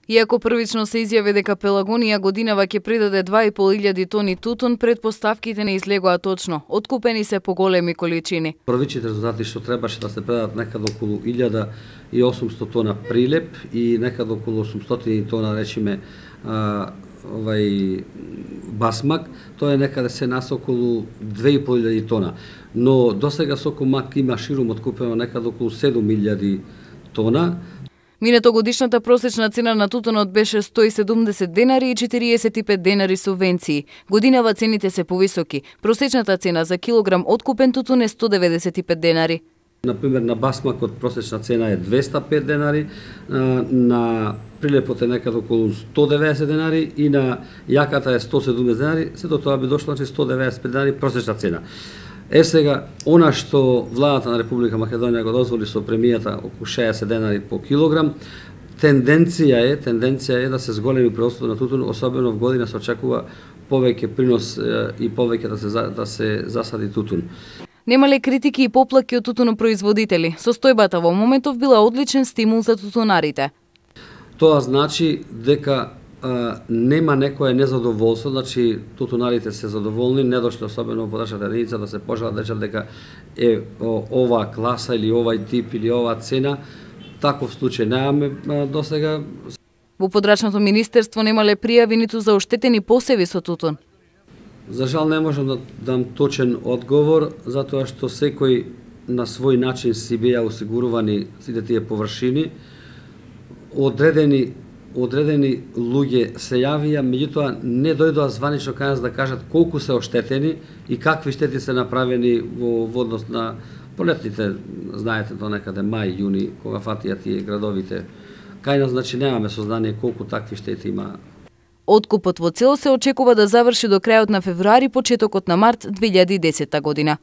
Иако првично се изјави дека Пелагонија годинава ќе придаде 2.500 тони тутун, предпоставките не излегоа точно. Откупени се поголеми количини. Првичните резултати што требаше да се предадат некаде околу 1800 тона прилеп и некаде околу 800 тона, речиме, басмак, тоа е некаде се нас околу 2.500 тона. Но досега сокомак има ширум откупено некаде околу 7.000 тона. Минато годишната просечна цена на тутунот беше 170 денари и 45 денари субвенции. Годинава цените се повисоки. Просечната цена за килограм откупен тутун е 195 денари. Например, на басмакот просечна цена е 205 денари, на прилепот е некаде околу 190 денари и на јаката е 170 денари, сето тоа би дошло 195 денари просечна цена. Сега, она што владата на Република Македонија го дозволи со премијата околу 60 денари по килограм, тенденција е да се зголеми производството на тутун, особено в година се очекува повеќе принос и повеќе да се засади тутун. Немале критики и поплаки од тутунопроизводители. Состојбата во моментов била одличен стимул за тутунарите. Тоа значи дека нема некое незадоволство, значи тутунарите се задоволни, не дошле особено во подачната единица да се пожалат дека е оваа класа или овај тип или оваа цена. Таков случај немаме досега. Во подрачното министерство немале пријави ниту за оштетени посеви со тутун. За жал не можам да дам точен одговор, затоа што секој на свој начин си беа осигурувани сите тие површини. Одредени луѓе се јавија, меѓутоа не дојдоа званично кај нас да кажат колку се оштетени и какви штети се направени во однос на полетните, знаете, до некаде мај, јуни, кога фатија тие градовите. Кај нас, значи, немаме сознание колку такви штети има. Откупот во цел се очекува да заврши до крајот на февруари, почетокот на март 2010 година.